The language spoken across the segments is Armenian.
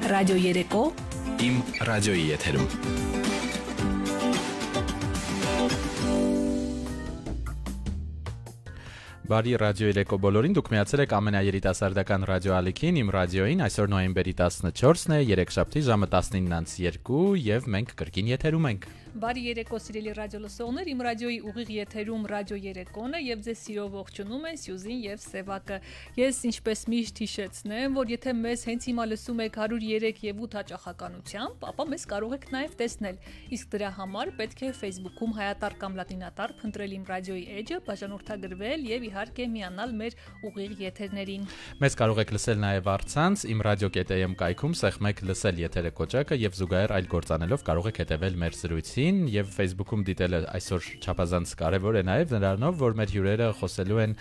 Ռադիո երեկո Իմ ռադիոյի եթերում Բարի ռադիո երեկո բոլորին, դուք միացել եք ամենաերիտասարդական ռադիո ալիքին, իմ ռադիոյին, այսօր նոյեմբերի 14-ն է, երեքշաբթի ժամը 19:02 եւ մենք կրկին եթերում ենք։ Բարի երեկո սիրելի ռադիո լսողներ, իմ ռադիոյի ուղիղ եթերում ռադիո երեկոն է եւ ձեզ սիրով ողջունում են Սյուզին եւ Սևակը։ Ես ինչպես միշտ հիշեցնեմ, որ եթե մեզ հենց հիմա լսում եք 103 եւ 8 հաճախականությամբ, ապա մեզ կարող եք նաեւ տեսնել։ Իսկ դրա համար պետք է Facebook-ում հայատար կամ լատինատար փնտրել իմ ռադիոյի էջը, բաժանորդագրվել եւ իհարկե միանալ մեր ուղիղ եթերներին։ Մեզ կարող եք լսել նաեւ առցանց իմ radio.am կայքում սեղմեք լսել եթերը կոճակը եւ զուգահեռ այլ գործանելով կարող եք հետեւել մեր զրույցին եւ Facebook-ում դիտելը այսօր չափազանց կարեւոր է նաեւ նրանով որ մեր հյուրերը խոսելու են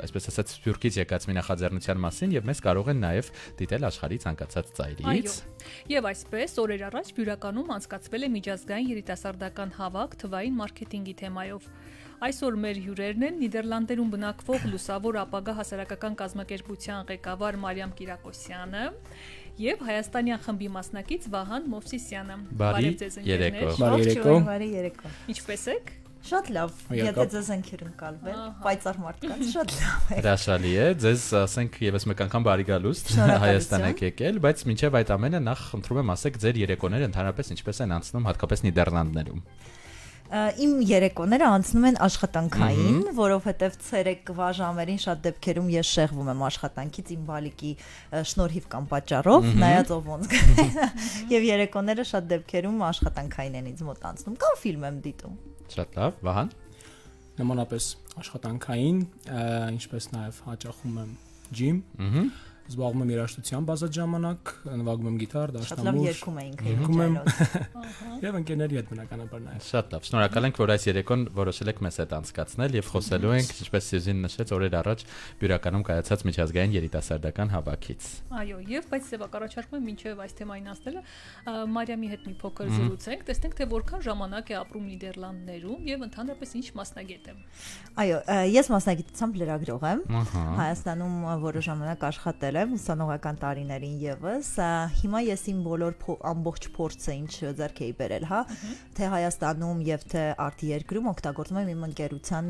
այսպես ասած Սփյուռքից եկած մի նախաձեռնության մասին եւ մեզ կարող են նաեւ դիտել աշխարհի ցանկացած ծայրից։ Եվ այսպես օրեր առաջ Բյուրականում անցկացվել է միջազգային երիտասարդական հավաք թվային մարքեթինգի թեմայով։ Այսօր մեր հյուրերն են Նիդերլանդերում բնակվող Լուսավոր ապագա հասարակական կազմակերպության ղեկավար Մարիամ Կիրակոսյանը եւ հայաստանյան խմբի մասնակից Վահան Մովսիսյանը։ Բարի երեկո։ Բարի երեկո։ Ինչպե՞ս եք։ Շատ լավ, եթե ձեզ ենք հյուրընկալվել, պայծառ մարդկանց շատ լավ է։ Հրաշալի է, ձեզ ասենք եւս մեկ անգամ բարի գալուստ Հայաստան եք եկել, բայց մինչեւ այդ ամենը նախ խնդրում եմ ասեք ձեր երեկոները ընդհանրապես ինչպես են անցնում հատկապես Նիդերլանդներում։ Իմ երեկոները անցնում են աշխատանքային, որովհետև ցերեկվա ժամերին շատ դեպքերում ես շեղվում եմ աշխատանքից իմ բալիկի շնորհիվ կամ պատճառով, նայած ով ոնց եւ երեկոները շատ դեպքերում աշխատանքային են ինձ մոտ անցնում, կամ ֆիլմ եմ դիտում։ Շատ լավ, Վահան։ Նմանապես աշխատանքային, ինչպես նաեւ հաճախում եմ ջիմ։ Զբաղվում եմ երաժշտությամբ ազատ ժամանակ, նվագում եմ գիտար, դաշնամուր։ Երգում ենք ինքնուրույն։ Եվ ընկերների հետ բնականաբար նաև։ Շատ լավ։ Շնորհակալ ենք, որ այս երեկոն որոշել եք մեզ հետ անցկացնել եւ խոսելու ենք, ինչպես Սյուզին նշեց, օրեր առաջ Բյուրականում կայացած միջազգային երիտասարդական հավաքից։ Այո, եւ բայց Սևակ առաջարկում եմ մինչեւ այս թեմային ասելը Մարիամի հետ մի փոքր զրուցենք, տեսնենք թե որքան ժամանակ է ապրում Նիդերլանդներում եւ ընդհանրապես ինչ մասնագետ է։ Այո, ես մասնագիտությամբ լրագրող եմ։ Հայաստանում որոշ ժամանակ աշխատել եմ ուսանողական տարիներին եւս։ Հիմա ես իմ բոլոր ամբողջ փորձը ինչ ձեռք էի բերել, հա, թե Հայաստանում եւ թե արտերկրում օգտագործում եմ իմ ընկերության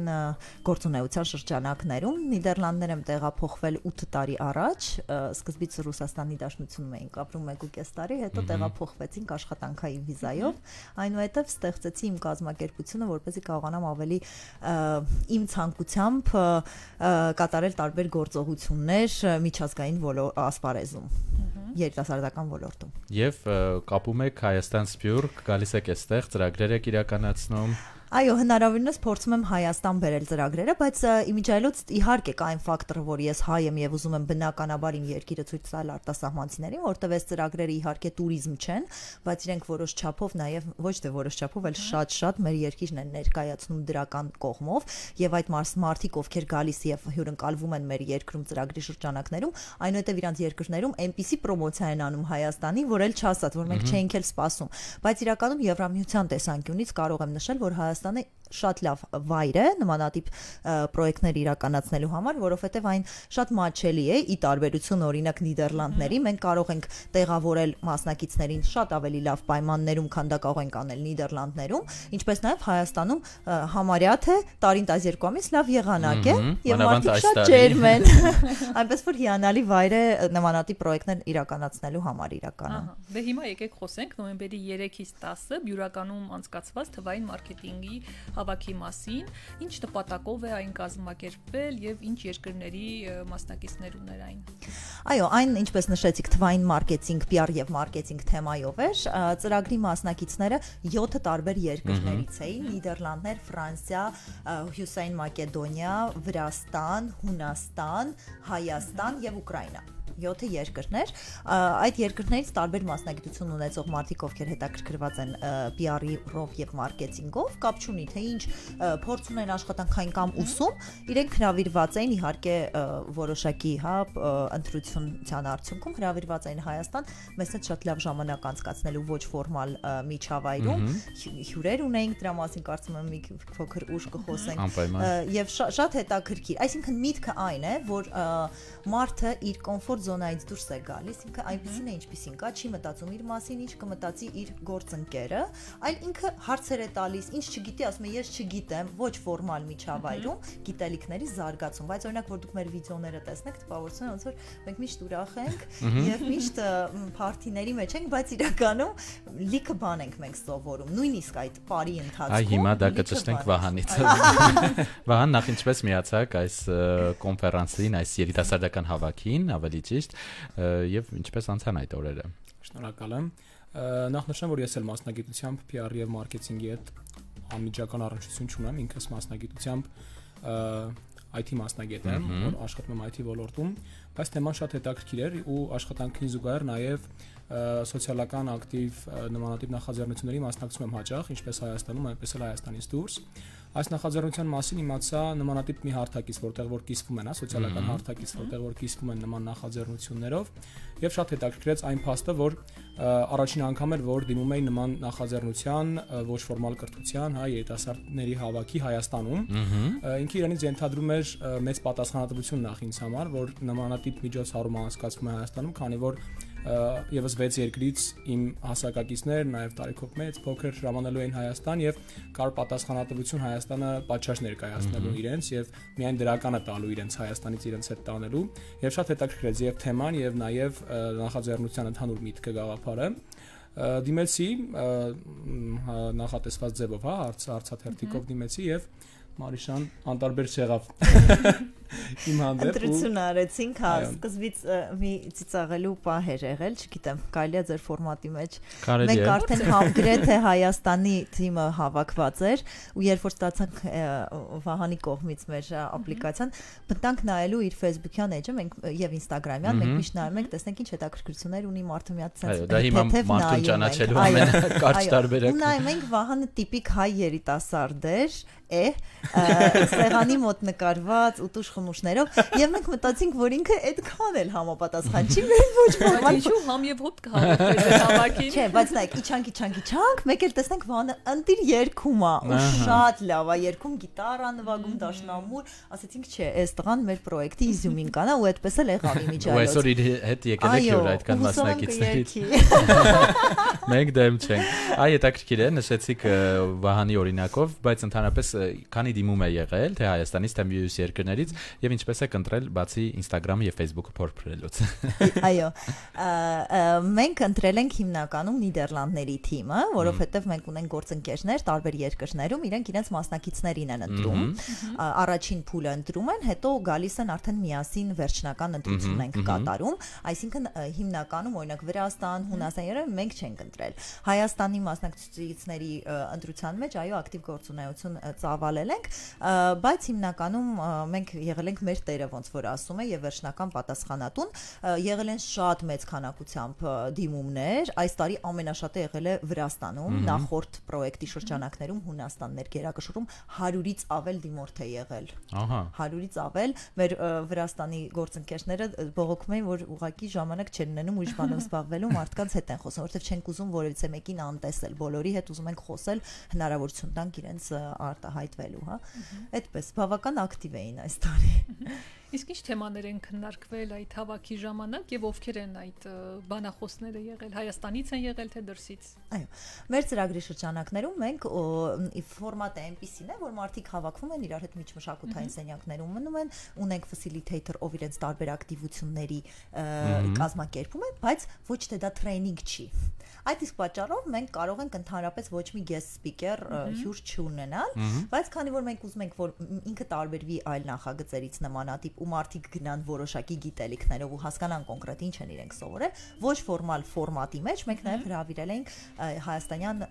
գործունեության շրջանակներում։ Նիդերլանդներ եմ տեղափոխվել 8 տարի առաջ, սկզբից Ռուսաստանի Դաշնությունում էինք ապրում 1.5 տարի, հետո տեղափոխվեցինք աշխատանքային վիզայով, այնուհետև ստեղծեցի իմ կազմակերպությունը, որպեսզի կարողանամ ավելի իմ ցանկությամբ կատարել տարբեր գործողություններ միջազգային ասպարեզում, երիտասարդական ոլորտում։ Եվ կապում եք Հայաստան Սփյուռք, գալիս եք այստեղ, ծրագրեր եք իրականացնում։ Այո, հնարավորինս փորձում եմ Հայաստան բերել ծրագրերը, բայց իմիջիայլոց իհարկե կա այն ֆակտորը, որ ես հայ եմ եւ ուզում եմ բնականաբար իմ երկիրը ցույց տալ արտասահմանցիներին, որտեղ այս ծրագրերը իհարկե տուրիզմ չեն, բայց իրենք որոշ չափով նաեւ ոչ թե որոշ չափով, այլ շատ մեր երկիրն են ներկայացնում դրական կողմով եւ այդ մարդիկ, ովքեր գալիս եւ հյուրընկալվում են մեր երկրում ծրագրի շրջանակներում, այնուհետեւ իրանց երկրներում այնպիսի պրոմոցիա են անում Հայաստանի, որ էլ չասած, որ մենք չէինք էլ սպասում, բայց իրականում Եվրամիության տեսանկյունից կարող եմ նշել, որ Հայաստանը շատ լավ վայր է նմանատիպ պրոյեկտներ իրականացնելու համար, որովհետև այն շատ մատչելի է ի տարբերություն օրինակ Նիդերլանդների, մենք կարող ենք տեղավորել մասնակիցներին շատ ավելի լավ պայմաններում, քան դա կարող ենք անել Նիդերլանդներում, ինչպես նաև Հայաստանում համարյա թե տարին 12 ամիս լավ եղանակ է եւ մարդիկ շատ ջերմ են, այնպես որ հիանալի վայր է նմանատիպ պրոյեկտներ իրականացնելու համար իրականում։ Դե հիմա եկեք խոսենք նոյեմբերի 3-ից 10-ը Բյուրականում անցկացված թվային մարքեթինգի հավաքի մասին, ինչ նպատակով է այն կազմակերպվել եւ ինչ երկրների մասնակիցներ ուներ այն։ Այո, այն ինչպես նշեցիք, թվային մարքեթինգ, PR եւ մարքեթինգ թեմայով էր, ծրագրի մասնակիցները 7 տարբեր երկրներից էին՝ Նիդերլանդներ, Ֆրանսիա, Հյուսային Մակեդոնիա, Վրաստան, Հունաստան, Հայաստան եւ Ուկրաինա։ 7 երկրներ, այդ երկրներից տարբեր մասնագիտություն ունեցող մարդիկ, ովքեր հետաքրքրված են PR-ով եւ մարքեթինգով, կապ չունի թե ինչ փորձ ունեն աշխատանքային կամ ուսում, իրենք հրավիրված էին իհարկե որոշակի, հա, ընտրության արդյունքում հրավիրված էին Հայաստան, մեզ հետ շատ լավ ժամանակ անցկացնելու ոչ ֆորմալ միջավայրում, հյուրեր ունեինք, դրա մասին կարծում եմ մի փոքր ուշ կխոսենք եւ շատ հետաքրքիր, այսինքն միտքը այն է, որ մարդը իր կոմֆորտ զոնայից դուրս է գալիս, ինքը այնպեսին է, ինչպեսին կա, չի մտածում իր մասին, ինչ կմտածի իր գործընկերը, այլ ինքը հարցեր է տալիս, ինչ չգիտի, ասում է ես չգիտեմ, ոչ ֆորմալ միջավայրում գիտելիքների զարգացում, բայց օրինակ որ դուք մեր վիդեոները տեսնեք, տպավորություն ոնց որ մենք միշտ ուրախ ենք եւ միշտ փարթիների մեջ ենք, բայց իրականում լիքը բան ենք մենք սովորում, նույնիսկ այդ բարի ընթացքում։ Այ հիմա դա կճշտենք Վահանից։ Վահան, նախ ինչպես միացաք այս կոնֆերանսին, այս երիտասարդական հավաքին, ավելի ճիշտ, եւ ինչպես անցան այդ օրերը։ Շնորհակալ եմ։ Նախ նշեմ, որ ես էլ մասնագիտությամբ PR եւ մարքեթինգի հետ անմիջական առնչություն չունեմ, ինքս մասնագիտությամբ IT մասնագետ եմ, որ աշխատում եմ IT ոլորտում, բայց թեման շատ հետաքրքիր էր ու աշխատանքին զուգահեռ նաև սոցիալական ակտիվ նմանատիպ նախաձեռնությունների մասնակցում եմ հաճախ, ինչպես Հայաստանում, այնպես էլ Հայաստանից դուրս։ Այս նախաձեռնության մասին իմացա նմանատիպ մի հարթակից, որտեղ որ կիսվում են, սոցիալական հարթակից, որտեղ որ կիսվում են նման նախաձեռնություններով, եւ շատ հետաքրքրեց այն փաստը, որ առաջին անգամ էր, որ դիմում էին նման նախաձեռնության ոչ ֆորմալ կրթության, երիտասարդների հավաքի Հայաստանում, ինքը իրենից ենթադրում էր մեծ պատասխանատվություն նախ ինձ համար, որ նմանատիպ միջոցառում անցկացվում է Հայաստանում, քանի որ եւս 6 երկրից իմ հասակակիցներ, նաեւ տարիքով մեծ, փոքր ժամանելու են Հայաստան եւ կար պատասխանատվություն Հայաստանը պատշաճ ներկայացնելու իրենց եւ միայն դրականը տալու իրենց Հայաստանից իրենց հետ տանելու եւ շատ հետաքրքրեց եւ թեման եւ նաեւ նախաձեռնության ընդհանուր միտքը գաղափարը դիմեցի նախատեսված ձևով, հարցաթերթիկով դիմեցի եւ Մարիշան անտարբեր չեղավ իմ հանդեպ ընտրություն արեցինք, սկզբից մի ծիծաղելու պահ էր եղել, չգիտեմ, կարելի է ձեր ֆորմատի մեջ։ Մենք արդեն գրեթե Հայաստանի թիմը հավաքված էր ու երբ որ ստացանք Վահանի կողմից մեր ապլիկացիան, մտանք նայելու իր Facebook-յան էջը, մենք եւ Instagram-յան, մենք միշտ նայում ենք, տեսնենք ինչ հետաքրքրություններ ունի մարդը մի հատ sense։ Դա հիմա մարդուն ճանաչելու ամենակարճ տարբերակը։ Ու նայում ենք Վահանը տիպիկ հայ երիտասարդ էր, սեղանի մոտ նկարված ուտուշ խմուշներով եւ մենք մտածինք, որ ինքը այդքան էլ համապատասխան չի մեր ոչ ֆորմալ ինչու համ եւ հոտ կհավաքվեց հավաքին։ Չէ, բայց նայեք, իչանք, մեկ էլ տեսնենք Վանը ընտիր երգում է, ու շատ լավ է երգում, գիտարա նվագում, դաշնամուր, ասեցինք, չէ, այս տղան մեր պրոյեկտի իզյումին կանա ու այդպես էլ եղավ իմիջիայլոց։ Ու այսօր իր հետ եկել եք յուր այդքան մասնակիցներից։ Մենք դեմ չենք։ Այ հետաքրքիր է, նշեցիք Վահանի օրինակով, բայց ընդհանրապես քանի դիմում է եղել, թե Հայաստանից, թե մյուս երկրներից եւ ինչպես եք ընտրել բացի Instagram-ը եւ Facebook-ը փորփրելուց։ Այո, մենք ընտրել ենք հիմնականում Նիդերլանդների թիմը, որովհետեւ մենք ունենք գործընկերներ տարբեր երկրներում, իրենք իրենց մասնակիցներին են ընտրում։ Առաջին փուլը ընտրում են, հետո գալիս են արդեն միասին վերջնական ընտրություն ենք կատարում, այսինքն հիմնականում օրինակ Վրաստան, Հունաստան, մենք չենք ընտրել։ Հայաստանի մասնակցությունների ընտրության մեջ այո ակտիվ գործունեություն ծավալել ենք, բայց հիմնականում մենք եղել ենք մեր տերը ոնց որ ասում է եւ վերջնական պատասխանատուն, եղել են շատ մեծ քանակությամբ դիմումներ, այս տարի ամենաշատը եղել է Վրաստանում, նախորդ պրոյեկտի շրջանակներում Հունաստան ներկերակշռում 100-ից ավել դիմորդ է եղել։ Ահա 100-ից ավել, մեր Վրաստանի գործընկերները բողոքում էին, որ ուղղակի ժամանակ չեն ունենում ուրիշ բանով զբաղվելու, մարդկանց հետ են խոսում, որովհետեւ չենք ուզում որևիցե մեկին անտեսել, բոլորի հետ ուզում ենք խոսել, հնարավորություն տանք իրենց արտահայտվելու, հա։ Այդպես բավական ակտիվ էին այս տարի։ Իսկ ինչ թեմաներ են քննարկվել այդ հավաքի ժամանակ եւ ովքեր են այդ բանախոսները եղել, Հայաստանից են եղել թե դրսից։ Այո, մեր ծրագրի շրջանակներում մենք ֆորմատը այնպեսին է, որ մարդիկ հավաքվում են իրար հետ միջմշակութային սենյակներում մնում են, ունենք facilitator, ով իրենց տարբեր ակտիվությունների կազմակերպում է, բայց ոչ թե դա տրեյնինգ չի։ Այդ իսկ պատճառով մենք կարող ենք ընդհանրապես ոչ մի guest speaker հյուր չունենալ, բայց քանի որ մենք ուզում ենք, որ ինքը տարբերվի այլ նախագծերից նմանատիպ ու մարդիկ գնան որոշակի գիտելիքներով ու հասկանան կոնկրետ ինչ են իրենք սովորել, ոչ ֆորմալ ֆորմատի մեջ մենք նաև հրավիրել ենք հայաստանյան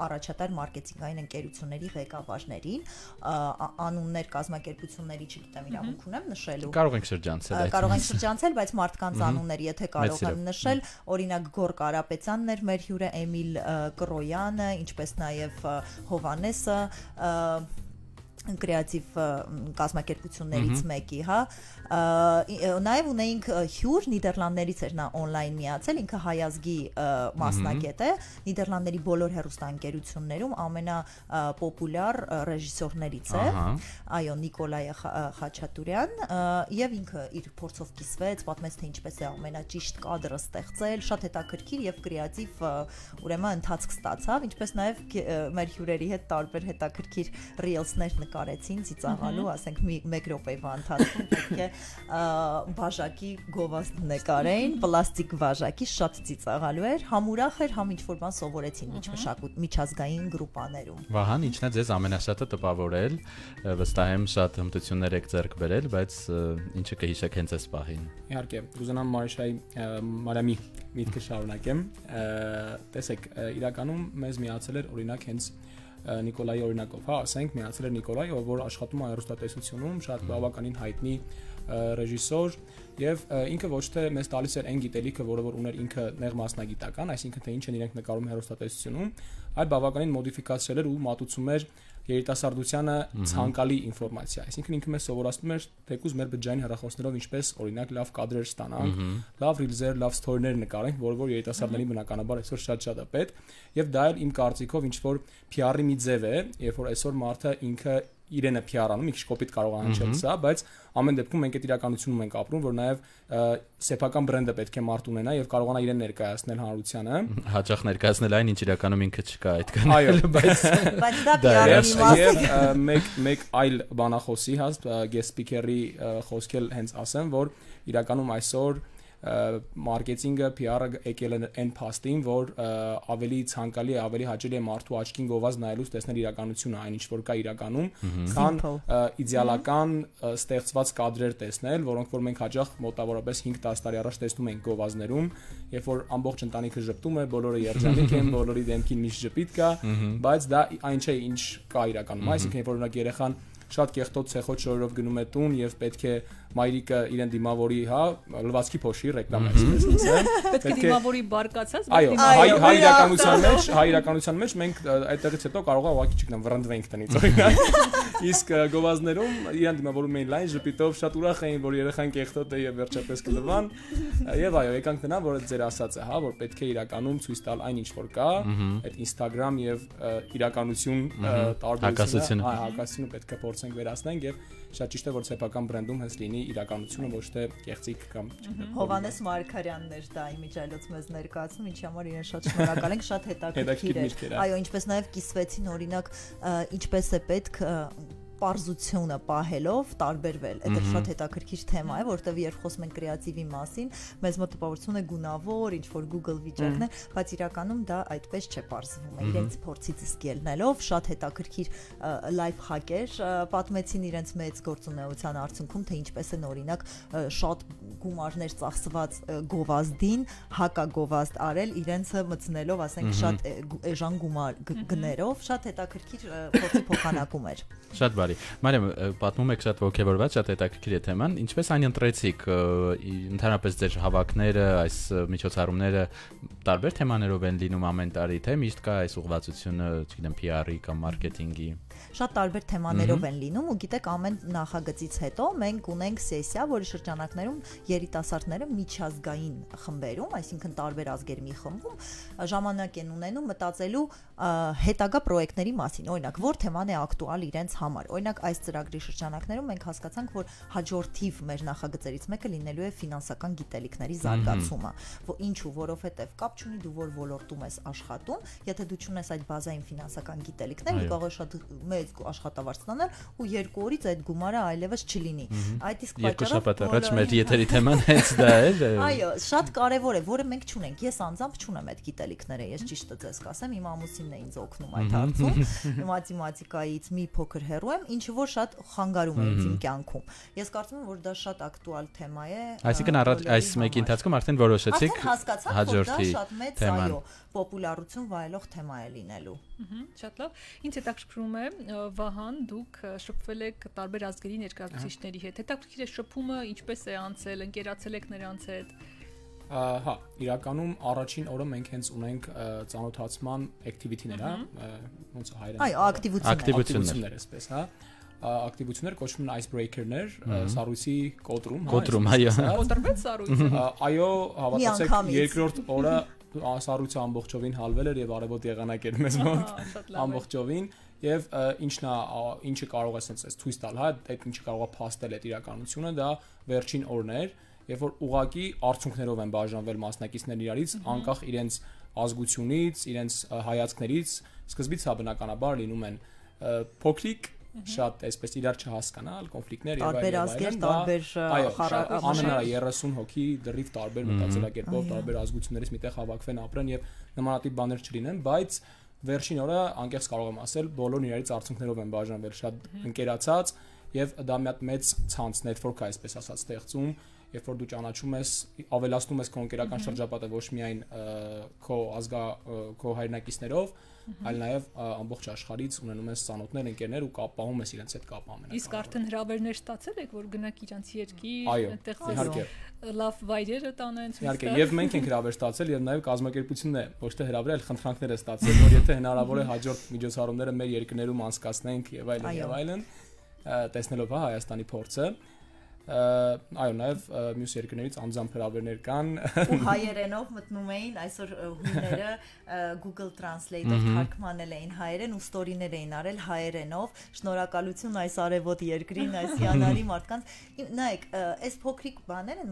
առաջատար մարքեթինգային ընկերությունների ղեկավարներին, անուններ կազմակերպությունների, չգիտեմ, իրավունք ունեմ նշելու։ Կարող ենք շրջանցել։ Կարող ենք շրջանցել, բայց մարդկանց անուններ, եթե կարող եմ նշել, օրինակ Գոր Կարապետյանն էր մեր հյուրը, Էմիլ Կրոյանը, ինչպես նաև Հովանեսը, կրեատիվ կազմակերպություններից մեկի, հա, նաև ունեինք հյուր Նիդերլանդներից էր նա on-line միացել, ինքը հայազգի մասնագետ է, Նիդերլանդների բոլոր հեռուստաընկերություններում ամենապոպուլյար ռեժիսորներից է, այո, Նիկոլայ Խաչատուրյան, եւ ինքը իր փորձով կիսվեց, պատմեց թե ինչպես է ամենաճիշտ կադրը ստեղծել, շատ հետաքրքիր եւ կրեատիվ ուրեմն ընթացք ստացավ, ինչպես նաև մեր հյուրերի հետ տարբեր հետաքրքիր ռիլսներ նկարեցին ծիծաղալու, ասենք մեկ րոպեվա ընթացքում պետք է բաժակի գովազդ նկարեին, պլաստիկ բաժակի, շատ ծիծաղալու էր, համ ուրախ էր, համ ինչ-որ բան սովորեցին միջազգային գրուպաներում։ Վահան, ինչն է ձեզ ամենաշատը տպավորել, վստահ եմ շատ հմտություններ եք ձեռք բերել, բայց ինչը կհիշեք հենց այս պահին։ Իհարկե, կուզենամ Մարիամի միտքը շարունակեմ։ Տեսեք, իրականում մեզ միացել էր օրինակ հենց Նիկոլայի օրինակով, հա, ասենք միացել էր Նիկոլայ, որ աշխատում է հեռուստատեսությունում, շատ բավականին հայտնի ռեժիսոր, եւ ինքը ոչ թե մեզ տալիս էր այն գիտելիքը, որը որ ուներ ինքը նեղ մասնագիտական, այսինքն թե ինչ են իրենք նկարում հեռուստատեսությունում, այլ բավականին մոդիֆիկացրել էր ու մատուցում էր երիտասարդությանը ցանկալի ինֆորմացիա, այսինքն ինքը մեզ սովորացնում էր թեկուզ մեր բջջային հեռախոսներով ինչպես օրինակ լավ կադրեր ստանանք, լավ ռիլզեր, լավ սթորիներ նկարենք, որ երիտասարդներին բնականաբար այսօր շատ է պետք, եւ դա էլ իմ կարծիքով ինչ որ PR-ի մի ձև է, երբ որ այսօր մարդը ինքը իրենը PR-անում, մի քիչ կոպիտ կարող է հնչել սա, բայց ամեն դեպքում մենք այդ իրականությունում ենք ապրում, որ նաև սեփական բրենդը պետք է մարդ ունենա եւ կարողանա իրեն ներկայացնել հանրությանը։ Հաճախ ներկայացնել այն, ինչ իրականում ինքը չկա այդքան։ Այո, բայց դա PR-ի մաս է։ Եվ մեկ այլ բանախոսի, հա, guest speaker-ի խոսքել հենց ասեմ, որ իրականում այսօր մարքեթինգը PR-ը եկել է այն փաստին, որ ավելի ցանկալի է, ավելի հաճելի է մարդու աչքին գովազ նայելուց տեսնել իրականությունը, այն ինչ որ կա իրականում, քան իդեալական ստեղծված կադրեր տեսնել, որոնք որ մենք հաճախ մոտավորապես 5-10 տարի առաջ տեսնում ենք գովազներում, երբ որ ամբողջ ընտանիքը ժպտում է, բոլորը երջանիկ են, բոլորի դեմքին միշտ ժպիտ կա, բայց դա այն չէ, ինչ կա իրականում, այսինքն երբ որ օրինակ երեխան շատ կեղտոտ ցեխոտ շորերով գնում է տուն եւ պետք է մայրիկը իրեն դիմավորի, հա, լվացքի փոշի ռեկլամա այսպես ասեմ։ Պետք է դիմավորի բարկացած, այո, հայ իրականության մեջ մենք այդտեղից հետո կարող է ուղղակի չգնամ վռնդվենք տնից օրինակ։ Իսկ գովազներում իրեն դիմավորում էին լայն ժպիտով, շատ ուրախ էին, որ երեխան կեղտոտ է եւ վերջապես կլվան։ Եվ այո, եկանք տնա, որ ձեր ասածը, հա, որ պետք է իրականում ցույց տալ այն ինչ որ կա, այդ Instagram եւ իրականություն տարբերությունը, հակասությունը պետք է փորձենք վերացնենք եւ շատ ճիշտ է որ սեփական բրենդում հենց լինի իրականությունը, ոչ թե կեղծիք կամ Հովհաննես Մարգարյանն էր դա իմիջայլոց մեզ ներկայացնում, ինչի համար իրեն շատ շնորհակալ ենք, շատ հետաքրքիր էր։ Այո, ինչպես նաև կիսվեցին օրինակ ինչպես է պետք պարզությունը պահելով տարբերվել։ Դա շատ հետաքրքիր թեմա է, որտեղ երբ խոսում ենք կրեատիվի մասին, մեզ մոտ տպավորություն է գունավոր, ինչ որ Google վիճակն է, բայց իրականում դա այդպես չէ պարզվում։ Իրենց փորձից իսկ ելնելով շատ հետաքրքիր լայֆ հակեր պատմեցին իրենց մեծ գործունեության արդյունքում, թե ինչպես են օրինակ շատ գումարներ ծախսված գովազդին հակագովազդ արել իրենցը մտցնելով, ասենք շատ էժան գումար գներով, շատ հետաքրքիր փորձի փոխանակում էր։ Շատ բարի։ Մարիամ, պատմում եք շատ ոգևորված, շատ հետաքրքիր է թեման։ Ինչպես այն ընտրեցիք, ընդհանրապես ձեր հավաքները, այս միջոցառումները տարբեր թեմաներով են լինում ամեն տարի, թե միշտ կա այս ուղղվածությունը, չգիտեմ, PR-ի կամ մարքեթինգի։ Շատ տարբեր թեմաներով են լինում ու գիտեք ամեն նախագծից հետո մենք ունենք սեսիա, որի շրջանակներում երիտասարդները միջազգային խմբերում, այսինքն տարբեր ազգերի մի խմբում ժամանակ են ունենում մտածելու հետագա պրոյեկտների մասին, օրինակ որ թեման է ակտուալ իրենց համար։ Օրինակ այս ծրագրի շրջանակներում մենք հասկացանք, որ հաջորդիվ մեր նախագծերից մեկը լինելու է ֆինանսական գիտելիքների զարգացումը, որ ինչու, որովհետև կապ չունի դու որ ոլորտում ես աշխատում, եթե դու չունես այդ բազային ֆինանսական գիտելիքներ, կարող է շատ մեծ աշխատավարձ ստանալ ու 2 օրից այդ գումարը այլևս չլինի։ Այդ իսկ պատճառով 2 շաբաթ առաջ մեր եթերի թեման հենց դա էր։ Այո, շատ կարևոր է, որը մենք չունենք։ Ես անձամբ չունեմ այդ գիտելիքները, ես ճիշտը ձեզ կասեմ, իմ ամուսինն է ինձ օգնում այդ հարցում։ Մաթեմատիկայից մի փոքր հեռու եմ, ինչը որ շատ խանգարում է իմ կյանքում։ Ես կարծում եմ, որ դա շատ ակտուալ թեմա է։ Այսինքն այս մեկի ընթացքում արդեն որոշեցիք հաջորդի թեման։ Պոպուլարություն վայելող թեմա է լինելու։ Շատ լավ։ Ինձ հետաքրքրում է, Վահան, դուք շփվել եք տարբեր ազգերի ներկայացուցիչների հետ։ Հետաքրքիր է շփումը ինչպես է անցել, ընկերացել եք նրանց հետ։ Հա, իրականում առաջին օրը մենք հենց ունենք ծանոթացման activity-ներ, հա, ոնց է հայերեն։ Այո, ակտիվություններ, այսպես, հա։ ակտիվություններ կոչվում են icebreaker-ներ, սառույցի կոտրում, այո։ Կոտրվեց սառույցը։ Այո, հավատացեք, երկրորդ օրը սառույցը ամբողջովին հալվել էր եւ արևոտ եղանակ էր մեզ մոտ ամբողջովին եւ ինչը կարող է ասենց ցույց տալ, հա, այդ ինչը կարող է փաստել այդ իրականությունը, դա վերջին օրն էր, երբ որ ուղակի արդյունքներով են բաժանվել մասնակիցներն իրարից, անկախ իրենց ազգությունից, իրենց հայացքներից, սկզբից հա բնականաբար լինում են փոքրիկ շատ այսպես իրար չհասկանալ կոնֆլիկտներ եւ այլն, տարբեր անհնար 30 հոգի դրիվ տարբեր մտածելակերպով, տարբեր ազգություններից միտեղ հավաքվեն, ապրեն եւ նմանատիպ բաներ չլինեն, բայց վերջին օրը անկեղծ կարող եմ ասել, բոլորն իրարից արդյունքներով են բաժանվել, շատ ընկերացած եւ դա մի հատ մեծ ցանց network է, այսպես ասած, ստեղծում, երբ որ դու ճանաչում ես, ավելացնում ես քո ընկերական շրջապատը ոչ միայն քո հայրենակիցներով, այլ նաև ամբողջ աշխարհից ունենում ես ծանոթներ, ընկերներ ու կապահում ես իրենց հետ կապ ամենակարևորը։ Իսկ արդեն հրավերներ ստացել եք, որ գնաք իրանց երկիր, այդտեղ լավ վայրերը տանեն ցույց տալ։ Իհարկե, եւ մենք ենք հրավեր ստացել եւ նաև կազմակերպությունն է ոչ թե հրավեր, այլ խնդրանքներ է ստացել, որ եթե հնարավոր է հաջորդ միջոցառումները մեր երկրներում անցկացնենք եւ այլն, տեսնելով Հայաստանի փորձը այո, նաև մյուս երկրներից անձամբ հրավերներ կան ու հայերենով մտնում էին այսօր հույները Google Translate-ով թարգմանել էին հայերեն ու ստորիներ էին արել հայերենով շնորհակալություն այս արևոտ երկրին, այս հիանալի մարդկանց նայեք, այս փոքրիկ բաները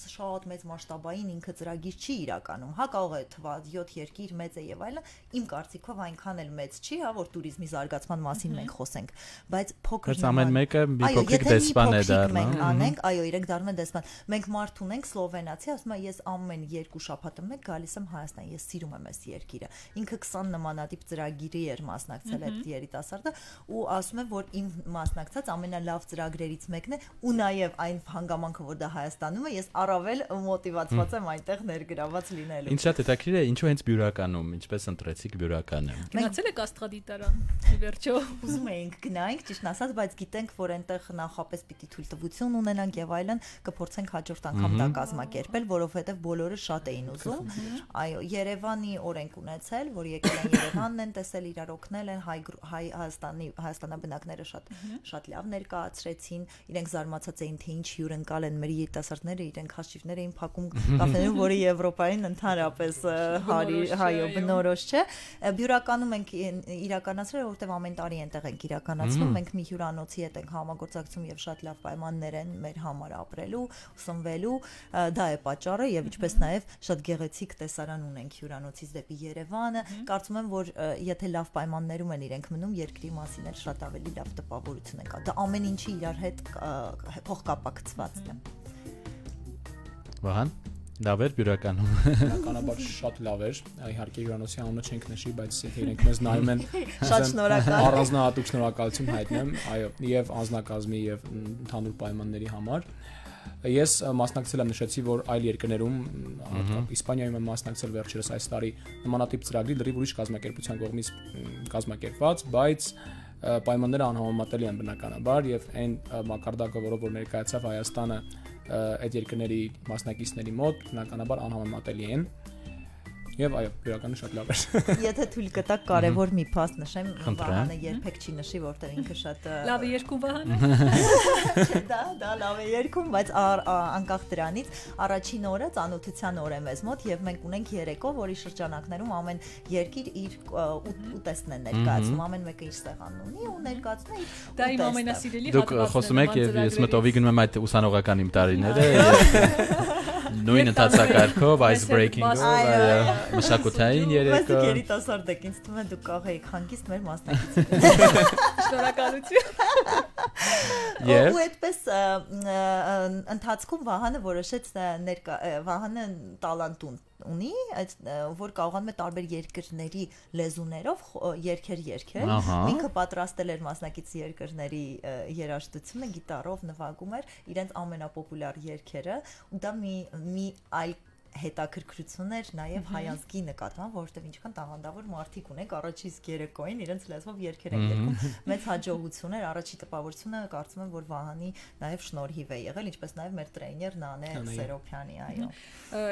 շատ մեծ մասշտաբային ինքը ծրագիր չի իրականում, հա կարող է թվալ 7 երկիր մեծ է եւ այլն, իմ կարծիքով այնքան էլ մեծ չի, հա որ туриզմի զարգացման մասին մենք խոսենք, բայց փոքր ամեն մեկը մի փոքրիկ դեսպան է դառնում այո, իրենք դառնում են դեսպան։ Մենք մարդ ունենք սլովենացի, ասում է ես ամեն 2 շաբաթը մեկ գալիս եմ Հայաստան, ես սիրում եմ այս երկիրը։ Ինքը 20 նմանատիպ ծրագրերի էր մասնակցել այդ երիտասարդը ու ասում է, որ իմ մասնակցած ամենալավ ծրագրերից մեկն է ու նաև այն հանգամանքը, որ դա Հայաստանում է, ես առավել մոտիվացված եմ այնտեղ ներգրաված լինելու։ Ինչ շատ հետաքրքիր է, ինչու հենց բյուրականում, ինչպես ընտրեցիք բյուրականը։ Գնացել եք աստղադիտարան, ի վերջո։ Ուզում էինք գնայինք, ճիշտն ասած, բայց գիտենք, որ այնտեղ նախապես պիտի թույլտվություն ունենանք եւ այլն, կփորձենք հաջորդ անգամ դա կազմակերպել, որովհետեւ բոլորը շատ էին ուզում։ Այո, Երևանի օրենք ունեցել, որ եկել են Երևանն են տեսել, իրար օգնել են, հայաստանաբնակները շատ լավ ներկայացրեցին, իրենք զարմացած էին, թե ինչ հյուրընկալ են մեր երիտասարդները, իրենք հաշիվներ էին փակում կաֆեներում, որը Եվրոպային ընդհանրապես հայո բնորոշ չէ։ Բյուրականում ենք իրականացրել, որովհետեւ ամեն տարի այնտեղ ենք իրականացնում, մենք մի հյուրանոցի հետ ենք համագործակցում եւ շատ լավ պայմաններ են մեր համար ապրելու, ուսնվելու, դա է պատճառը եւ ինչպես նաեւ շատ գեղեցիկ տեսարան ունենք հյուրանոցից դեպի Երևանը, կարծում եմ, որ եթե լավ պայմաններում են իրենք մնում, երկրի մասին էլ շատ ավելի լավ տպավորություն է կա։ Դա ամեն ինչի իրար հետ փոխկապակցված է։ Վահան, լավ էր բյուրականում։ Բնականաբար շատ լավ էր, իհարկե հյուրանոցի անունը չենք նշի, բայց եթե իրենք մեզ նայում են, շատ շնորհակալ։ Առանձնահատուկ շնորհակալություն հայտնեմ, այո, եւ անձնակազմի եւ ընդհանուր պայմանների համար։ Ես մասնակցել եմ, նշեցի, որ այլ երկրներում, Իսպանիայում եմ մասնակցել վերջերս այս տարի նմանատիպ ծրագրի լրիվ ուրիշ կազմակերպության կողմից կազմակերպված, բայց պայմանները անհամեմատելի են բնականաբար եւ այն մակարդակը, որով որ ներկայացավ Հայաստանը այդ երկրների մասնակիցների մոտ, բնականաբար անհամեմատելի են։ Եվ այո, բյուրականը շատ լավ էր։ Եթե թույլ կտաք կարևոր մի փաստ նշեմ, Վահանը երբեք չի նշի, որտեղ ինքը շատ լավ է երկում Վահանը։ Դա լավ է երկում, բայց անկախ դրանից առաջին օրը ծանոթության օր է մեզ մոտ եւ մենք ունենք երեկո, որի շրջանակներում ամեն երկիր իր ուտեստն է ներկայացնում, ամեն մեկը իր սեղանն ունի ու ներկայացնում է իր։ Դա իմ ամենասիրելի հատվածն է։ Դուք խոսում եք եւ ես մտովի գնում եմ այդ ուսանողական իմ տարիները։ Նույն ընթացակարգով, icebreaking-ով, մշակութային երեկո։ Բայց երիտասարդ եք, ինձ թվում է դուք կարող եք հանգիստ մեր մասնակիցներ։ Շնորհակալություն։ Ու այդպես ընթացքում Վահանը որոշեց Վահանը տալանտ ունի, որ կարողանում է տարբեր երկրների լեզուներով երգեր երգել։ Ինքը պատրաստել էր մասնակից երկրների երաժշտությունը, գիտարով նվագում էր իրենց ամենապոպուլյար երգերը, ու դա մի այլ հետաքրքրություն էր նաև հայազգի նկատմամբ, որովհետև ինչքան տաղանդավոր մարդիկ ունենք առաջի իսկ երեկոյին իրենց լեզվով երգեր են երգում, մեծ հաջողություն էր, առաջի տպավորությունը կարծում եմ, որ Վահանի նաև շնորհիվ է եղել, ինչպես նաև մեր տրեյներ Նանե Սերոփյանի, այո։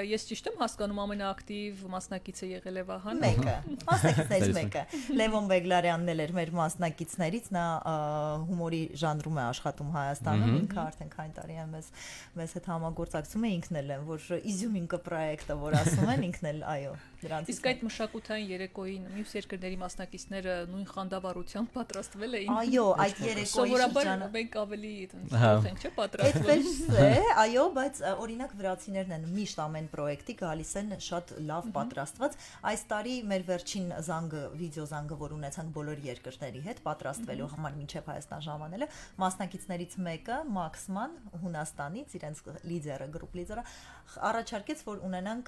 Ես ճիշտ եմ հասկանում ամենաակտիվ մասնակիցը եղել է Վահանը։ Մեկը, մասնակիցներից մեկը։ Լևոն Բեգլարյանն էլ էր մեր մասնակիցներից, նա հումորի ժանրում է աշխատում Հայաստանում, ինքը արդեն քանի տարի է մեզ հետ համագործակցում է, ինքն էլ է, որ Իզյումինկը պրոյեկտը, որ ասում են, ինքն էլ, այո, դրանից։ Իսկ այդ մշակութային երեկոյին մյուս երկրների մասնակիցները նույն խանդավառությամբ պատրաստվել էին։ Այո, այդ երեկոյի շրջանը մենք ավելի կարող ենք, չէ՞, պատրաստվել։ Այդպես է, այո, բայց օրինակ վրացիներն են միշտ ամեն պրոյեկտի գալիս են շատ լավ պատրաստված։ Այս տարի մեր վերջին զանգը, վիդեո զանգը, որ ունեցանք բոլոր երկրների հետ պատրաստվելու համար մինչև Հայաստան ժամանելը, մասնակիցներից մեկը Մաքսման Հունաստանից, իրենց լիդերը, գրուպ լիդերը, առաջարկեց, որ ունենանք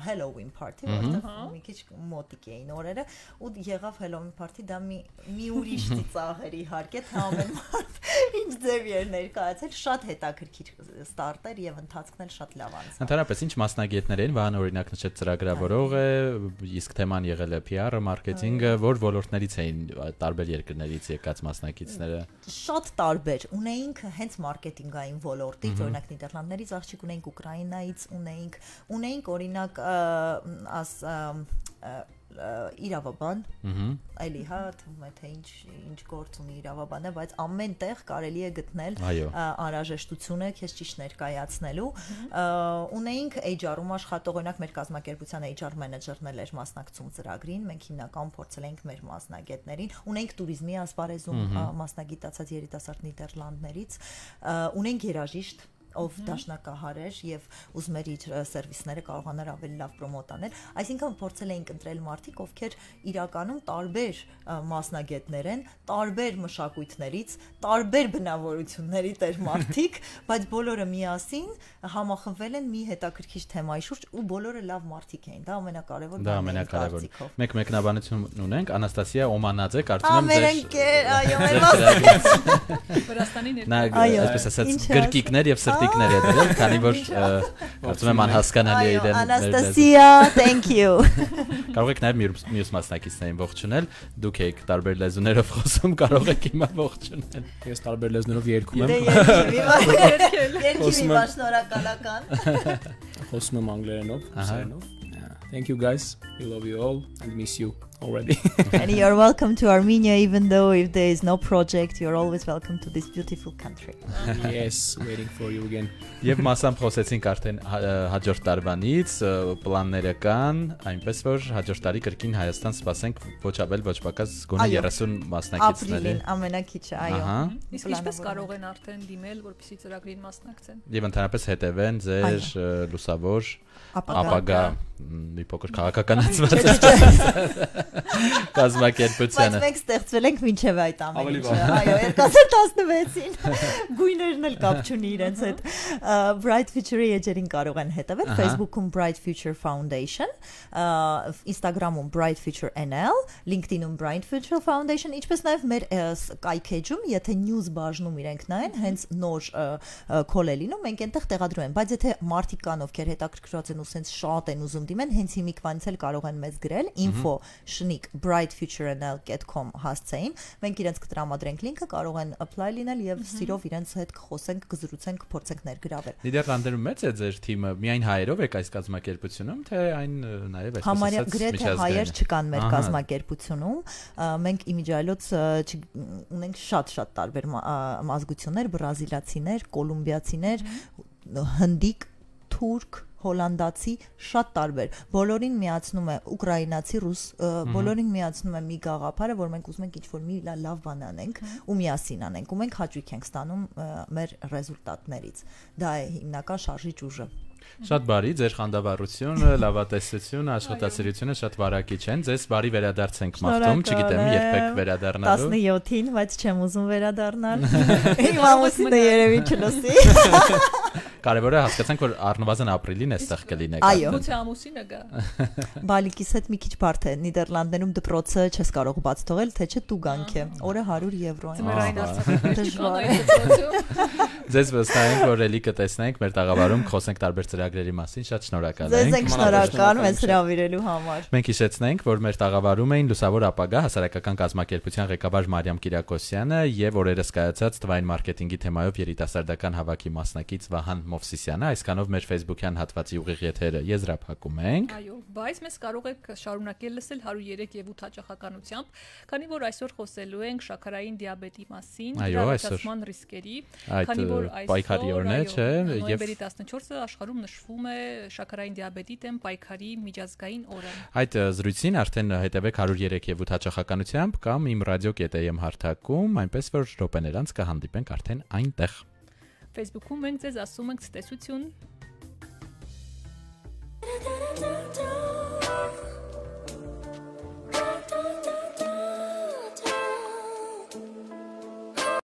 Halloween party, որտեղ մի քիչ մոտիկ էին օրերը, ու եղավ Halloween party, դա մի ուրիշ ծիծաղ էր իհարկե, թե ամեն մարդ ինչ ձև էր ներկայացել, շատ հետաքրքիր ստարտեր եւ ընթացքն էլ շատ լավ անցավ։ Ընդհանրապես ինչ մասնագետներ են, Վահան օրինակ նշեց ծրագրավորող է, իսկ թեման եղել է PR-ը, մարքեթինգը, որ ոլորտներից էին տարբեր երկրներից եկած մասնակիցները։ Շատ տարբեր, ունեինք հենց մարքեթինգային ոլորտից, օրինակ Նիդերլանդներից աղջիկ ունեինք, Ուկրաինայից ունեինք օրինակ իրավաբան, այլի հա, թվում է թե ինչ գործ ունի իրավաբանը, բայց ամեն տեղ կարելի է գտնել անհրաժեշտությունը քեզ ճիշտ ներկայացնելու։ Ունեինք HR-ում աշխատող, օրինակ մեր կազմակերպության HR մենեջերն էլ էր մասնակցում ծրագրին, մենք հիմնական փորձել ենք մեր մասնագետներին, ունենք туриզմի ասպարեզում մասնագիտացած երիտասարդ Նիդերլանդներից, ունենք երաժիշտ ով դաշնակահար էր եւ ուզում էր իր սերվիսները կարողանար ավելի լավ պրոմոտ անել, այսինքն փորձել էինք ընտրել մարդիկ, ովքեր իրականում տարբեր մասնագետներ են, տարբեր մշակույթներից, տարբեր բնավորությունների տեր մարդիկ, բայց բոլորը միասին համախմբվել են մի հետաքրքիր թեմայի շուրջ ու բոլորը լավ մարդիկ էին, դա ամենակարևոր բանն է։ Մեկ մեկնաբանություն ունենք, Անաստասիա Օմանաձե, կարծում եմ Վրաստանի այսպես ասած գրկիկներ եւ տիկներ է դրել, քանի որ կարծում եմ անհասկանալի է իրեն։ Անաստասիա, thank you։ Կարող եք նաև մյուս մասնակիցներին ողջունել, դուք եք տարբեր լեզուներով խոսում, կարող եք հիմա ողջունել։ Ես տարբեր լեզուներով երգում եմ։ Երկի շնորհակալական։ Խոսում եմ անգլերենով, ռուսերենով։ Thank you guys. We love you all and miss you already. And you're welcome to Armenia, even though if there is no project, you're always welcome to this beautiful country. Yes, waiting for you again. Եվ մասամբ խոսեցինք արդեն հաջորդ տարվանից, պլանները կան, այնպես որ հաջորդ տարի կրկին Հայաստան սպասենք ոչ ավել ոչ պակաս գոնե 30 մասնակիցների։ Ապրիլին ամենակիչը, այո։ Իսկ ինչպես կարող են արդեն դիմել, որպեսզի ծրագրին մասնակցեն։ Եվ ընդհանրապես հետևեն ձեր լուսավոր ապագա մի փոքր քաղաքականացված կազմակերպությանը։ Բայց մենք ստեղծվել ենք մինչև այդ ամեն ինչը, այո, 2016-ին գույներն էլ կապ չունի իրենց հետ։ Bright Future-ի էջերին կարող են հետևել Facebook-ում Bright Future Foundation, Instagram-ում Bright Future NL, LinkedIn-ում Bright Future Foundation, ինչպես նաև մեր կայքեջում, եթե news բաժնում իրենք նայեն, հենց նոր call է լինում, մենք այնտեղ տեղադրում ենք, բայց եթե մարդիկ կան, ովքեր հետաքրքրված են ու սենց շատ են ուզում դիմեն, հենց հիմիկվանից էլ կարող են մեզ գրել info@brightfuturenl.com հասցեին, մենք իրենց կտրամադրենք լինքը, կարող են apply լինել եւ սիրով իրենց հետ կխոսենք, կզրուցենք, կփորձենք ներգրավել։ Նիդերլանդերում մեծ է ձեր թիմը, միայն հայերով եք այս կազմակերպությունում, թե այն նաեւ այսպես համարյա գրեթե հայեր չկան մեր կազմակերպությունում, մենք իմիջիայլոց ունենք շատ տարբեր ազգություններ, բրազիլացիներ, կոլումբիացիներ, հնդիկ, թուրք, հոլանդացի, շատ տարբեր։ Բոլորին միացնում է ուկրաինացի, ռուս, բոլորին միացնում է մի գաղափարը, որ մենք ուզում ենք ինչ-որ մի լավ բան անենք ու միասին անենք, ու մենք հաճույք ենք ստանում մեր ռեզուլտատներից։ Դա է հիմնական շարժիչ ուժը։ Շատ բարի, ձեր խանդավառությունը, լավատեսությունը, աշխատասիրությունը շատ վարակիչ են։ Ձեզ բարի վերադարձ ենք մաղթում, չգիտեմ, երբեք վերադառնալու։ 17-ին, բայց չեմ ուզում վերադառնալ։ Իմ ամուսինը երևի չլսի։ Կարևորը հասկացանք, որ առնվազն ապրիլին էստեղ կլինեք։ Այո։ Ո՞ց ամուսինը գա։ Բալիկիս հետ մի քիչ բարդ է։ Նիդերլանդներում դպրոցը չես կարող բաց թողել, թե չէ տուգանք է։ Օրը 100 եվրո է։ Ձմեռային Դժվար է։ արցախը։ Ձեզ վստահ ենք, որ ելի կտեսնենք մեր տաղավարում, խոսենք տարբեր ծրագրերի մասին, շատ շնորհակալ Ձեզ ենք։ ենք շնորհակալ մեզ հրավիրելու համար։ Մենք հիշեցնենք, որ մեր տաղավարում էին Լուսավոր ապագա հասարակական կազմակերպության ղեկավար Մարիամ Կիրակոսյանը եւ օրերս կայացած թվային մարքեթինգի թեմայով երիտասարդական հավաքի մասնակից Վահան Մովսիսյանը։ Այսքանով մեր Facebook-յան հատվածի ուղիղ եթերը եզրափակում ենք։ Այո, բայց մեզ կարող եք շարունակել լսել 103 եւ 8 հաճախականությամբ, քանի որ այսօր խոսելու ենք շաքարային դիաբետի մասին, դիաբետացման ռիսկերի, քանի որ պայքարի օրն է, չէ, եւ նոյեմբերի 14-ը աշխարհում նշվում է շաքարային դիաբետի դեմ պայքարի միջազգային օրը։ Այդ զրույցին արդեն հետևեք 103 եւ 8 հաճախականությամբ կամ իմ radio.am հարթակում, այնպես որ րոպեներ անց կհանդիպենք արդեն այնտեղ։ Facebook-ում մենք ձեզ ասում ենք ցտեսություն